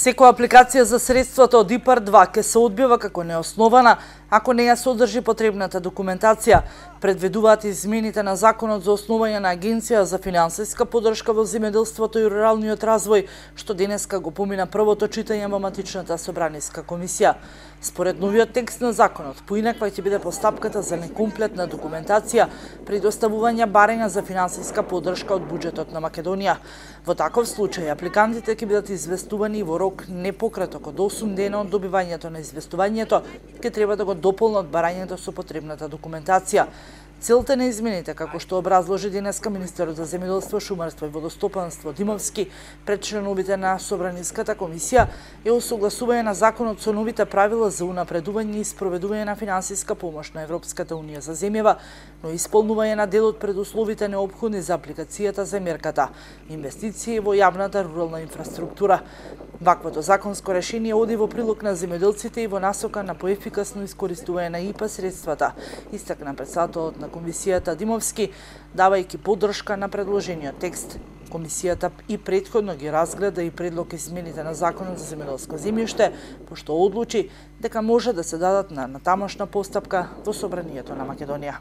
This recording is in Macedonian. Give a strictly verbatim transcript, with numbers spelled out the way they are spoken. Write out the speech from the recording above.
Секоја апликација за средствата од ИПАР два ќе се одбива како неоснована ако не ја содржи потребната документација. Предвидуваат измените на Законот за основање на Агенција за финансиска поддршка во земјоделството и руралниот развој, што денеска го помина првото читање во матичната собраниска комисија. Според новиот текст на законот, поинаква ќе биде постапката за некомплетна документација при доставување барања за финансиска поддршка од буџетот на Македонија. Во таков случај, апликантите ќе бидат известувани во рок не пократок од осум дена од добивањето на известувањето, ќе треба да го дополнат барањето со потребната документација. Целта на измените, како што образложи денеска министерот за земјоделство, шумарство и водостопанство Димовски пред членовите на Собраниската комисија, е усогласување на законот со новите правила за унапредување и спроведување на финансиска помош на Европската унија за земјава, но исполнување на дел од предусловите неопходни за апликацијата за мерката инвестиции во јавната рурална инфраструктура. Ваквото законско решение оди во прилог на земјоделците и во насока на поефикасно искористување на ИПА средствата, истакна председателот на комисијата Димовски, давајќи поддршка на предложениот текст. Комисијата и претходно ги разгледа и предлог измените на Законот за земјоделско земјиште, пошто одлучи дека може да се дадат на натамошна постапка во Собранието на Македонија.